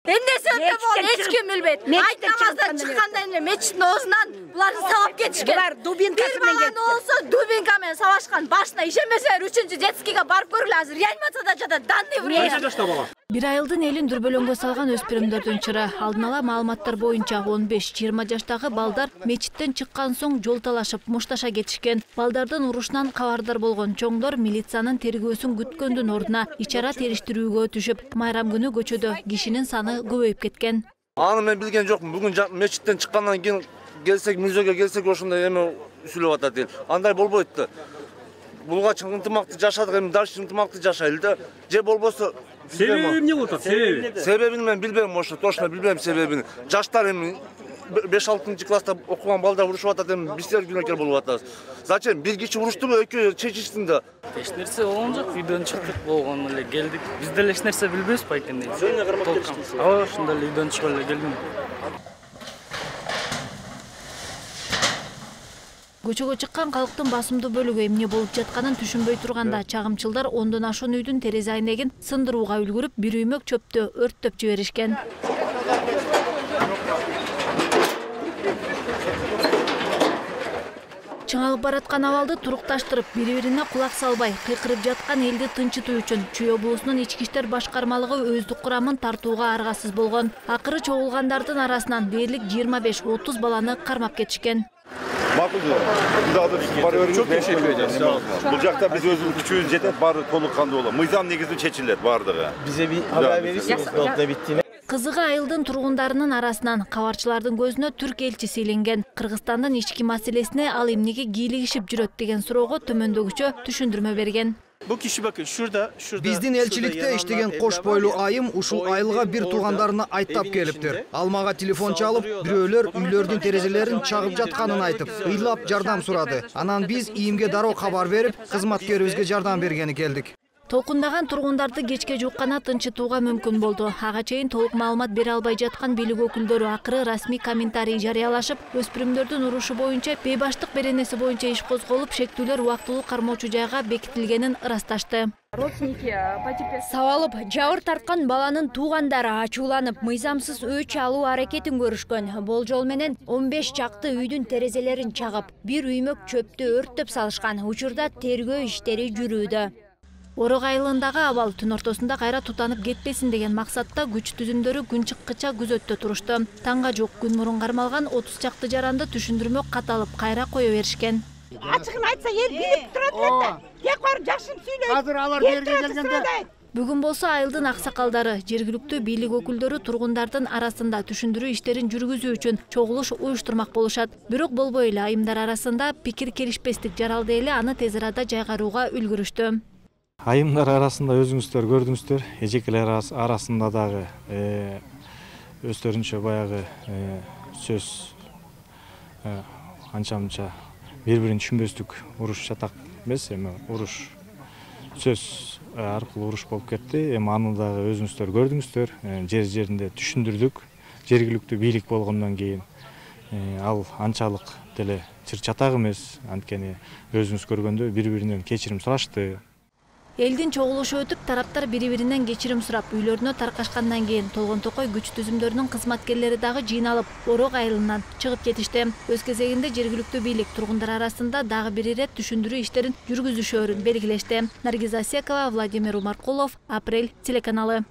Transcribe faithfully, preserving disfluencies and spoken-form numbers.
Эмнеси өтө болду, эч ким билбейт. Айт намаздан чыккандан кийин мечиттин оозунан буларды сабап кетишкен. Булар дубинкасы менен кетти. Бир баланы болсо дубинка менен сабашкан. Башына ишенбесеңер үчүнчү детскийге барып көргүлө, азыр реанимацияда жатат. Данный время. Кайча жашта бала? Бир айылдын элин дүрбөлөңгө салган өспүрүмдөрдүн чыры. Алдын ала маалыматтар боюнча он беш жыйырма жаштагы балдар мечиттен чыккан соң жол талашып мушташа кетишкен. Балдардын урушунан кабардар болгон чоңдор милициянын тергөөсүн күткөндүн ордуна ичара териштирүүгө түшүп, майрам күнү көчөдө кишинин саны көбөйүп кеткен. Аны мен билген жокмун. Бүгүн мечиттен чыккандан кийин келсек, мизөөгө келсек ошондой эме сүйлөп атат эл. Андай болбойт да. Булгач ынтымакты жашадык, эми дальше ынтымакты жашайлы да. Же болбосо себеби эмне болуп атат? Себеби? Себебин мен билбейм, ошо точно билбейм себебин. Жаштар эми беш алтынчы класста окуган балдар урушуп атат, эми биздер күнөөкөр болуп атабыз. Зачем? Бир киши уруштубу, экөө чечишсин да. Эч нерсе болгон жок, үйдөн чыктык, болгон эле келдик. Биз деле эч нерсе билбейбиз байкенде. Ооба, ошондой эле үйдөн чыгып эле келдим. Көчөгө чыккан калктын басымдуу бөлүгү эмне болуп жатканын түшүнбөй турганда чагымчылдар ондон ашуун үйдүн терезе айнегин сындырууга үлгүрүп, бир үймөк чөптү өрттөп жиберишкен. Чыңалып бараткан абалды турукташтырып, бири-бирине кулак салбай, кыйкырып жаткан элди тынчытуу үчүн Чүй облусунун ички иштер башкармалыгы өздүк курамын тартууга аргасыз болгон. Акыры чогулгандардын арасынан дээрлик жыйырма беш отуз баланы кармап кетишкен. Макул Çok teşekkür ederiz. Бұл жақта біз өзіміз күшіміз жетет, бары толық қанды болу. Мыйзам негізі шешіледі бардығы. Bize bir haber verirsiniz notla bittiğini. Кызыгы айылдын тургундарынын арасынан кабарчылардын көзүнө түрк элчиси иленген. Кыргызстандын ички маселесине ал эмнеге кийлигишип жүрөт деген суроого төмөндөгүчө түшүндүрмө берген. Bu kişi bakın şurada, şurada. Биздин элчиликте иштеген кош бойлуу айым ушул айылга бир туугандарына айттап келиптир. Ал мага телефон чалып, бирөөлөр үйлөрдүн терезелерин чагып жатканын айтып, ыйлап жардам сурады. Анан биз ийимге дароо кабар берип, кызматкерибизге жардам бергени келдик. Толкундаган тургундарды кечке жуккана тынчытууга мүмкүн болду. Ага чейин толук маалымат бере албай жаткан бийлик өкүлдөрү акыры расмий комментарий жарыялашып, өспүрүмдөрдүн урушу боюнча бейбаштык беренеси боюнча иш козголуп, шектүүлөр убактылуу кармоочу жайга бекитилгенин ырасташты. Сабалып, жабыр тарткан баланын туугандары ачууланып, мыйзамсыз өч алуу аракетин көрүшкөн. Болжол менен он беш чакты үйдүн терезелерин чагып, бир үймөк чөптү өрттөп салышкан. Учурда тергөө иштери жүрүүдө. Орок айылындагы абал түн ортосунда кайра тутанып кетпесин деген максатта күч түзүмдөрү күн чыккыча күзөттө турушту. Таңга жок күн мурун кармалган отуз чакты жаранды түшүндүрмө каталып кайра кое беришкен. Ачыгын айтса эл билип турат эле. Тек барып жакшын сүйлөйт. Азыр алар жерге келгенде Бүгүн болсо айылдын аксакалдары, жергиликтүү бийлик өкүлдөрү тургундардын арасында түшүндүрүү иштерин жүргүзүү үчүн чогулуш уюштурмак болушат. Бирок болбой эле айымдар арасында пикир келишпестик жаралды эле аны тез арада жайгарууга үлгүрүштү. Айымдар арасында өзүңүздөр көрдүңүздөр, эжекелер арасында дагы өздөрүнчө баягы сөз анча-мынча бири-бирин түшүнбөстүк уруш жатак эмес, эми уруш сөз аркылуу уруш болуп кетти. Эми аны дагы өзүңүздөр көрдүңүздөр, жер-жеринде түшүндүрдүк. Жергиликтүү бийлик болгондон кийин ал анчалык деле чыр-чатак эмес, анткени өзүңүз көргөндө бири-биринен кечирим сурашты. Элдин чогулушу өтүп, тараптар бири-биринен кечирим сурап, үйлөрүнө таркашкандан кийин Толгон Токой күч түзүмдөрүнүн кызматкерлери дагы жыйналып, Орок айылынан чыгып кетишти. Өз кезегинде жергиликтүү бийлик тургундар арасында дагы бир ирет түшүндүрүү иштерин жүргүзүшөөрүн белгилешти. Наргиза Секова, Владимир Умаркулов, Апрель телеканалы.